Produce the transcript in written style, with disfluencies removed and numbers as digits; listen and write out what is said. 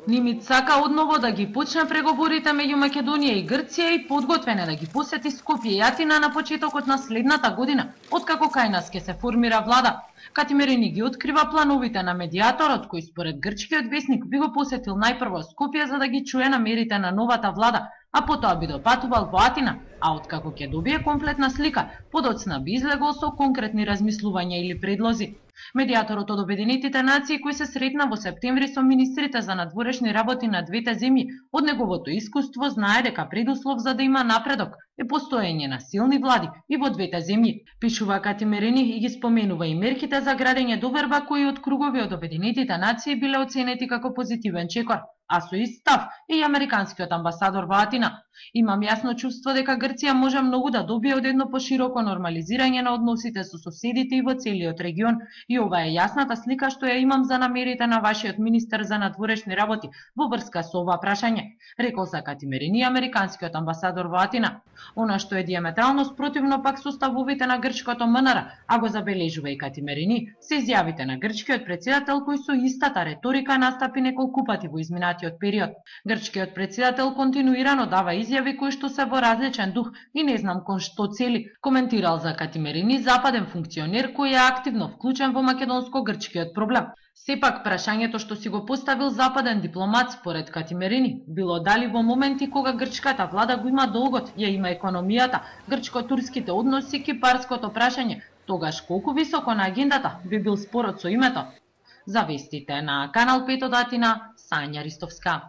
Нимит сака одново да ги почне преговорите меѓу Македонија и Грција и подготвен е да ги посети Скопје и Атина на почетокот на следната година, откако кај нас ќе се формира влада. Катимерини ги открива плановите на медијаторот, кој според грчкиот весник би го посетил најпрво Скопје за да ги чуе намерите на новата влада, а потоа би допатувал во Атина, а откако ќе добие комплетна слика, подоцна би излегол со конкретни размислувања или предлози. Медијаторот од Обединетите нации, кој се сретна во септември со министрите за надворешни работи на двете земји, од неговото искуство знае дека предуслов за да има напредок е постоење на силни влади и во двете земји. Пишува Катимерини и ги споменува и мерките за градење доверба кои од кругови од Обединетите нации биле оценети како позитивен чекор, а со ист став и американскиот амбасадор во Атина. Имам јасно чувство дека Грција може многу да добие од едно пошироко нормализирање на односите со соседите и во целиот регион, и ова е јасната слика што ја имам за намерите на вашиот министер за надворешни работи во врска со ова прашање, рекол за Катимерини американскиот амбасадор во Атина. Она што е диаметрално спротивно пак со ставовите на грчкото МНР, а го забележува и Катимерини, се изјавите на грчкиот претседател кој со истата реторика настапи неколку пати во изминатиот период. Грчкиот претседател континуирано дава изјави кои што се во различен дух и не знам кон што цели, коментирал за Катимерини западен функционер кој е активно вклучен во македонско-грчкиот проблем. Сепак прашањето што си го поставил западен дипломат според Катимерини било дали во моменти кога грчката влада го има долгот, ја има економијата, грчко-турските односи, кипарското прашање, тогаш колку високо на агендата би бил спорот со името. За вестите на Канал 5 од Атина, Сања Ристовска.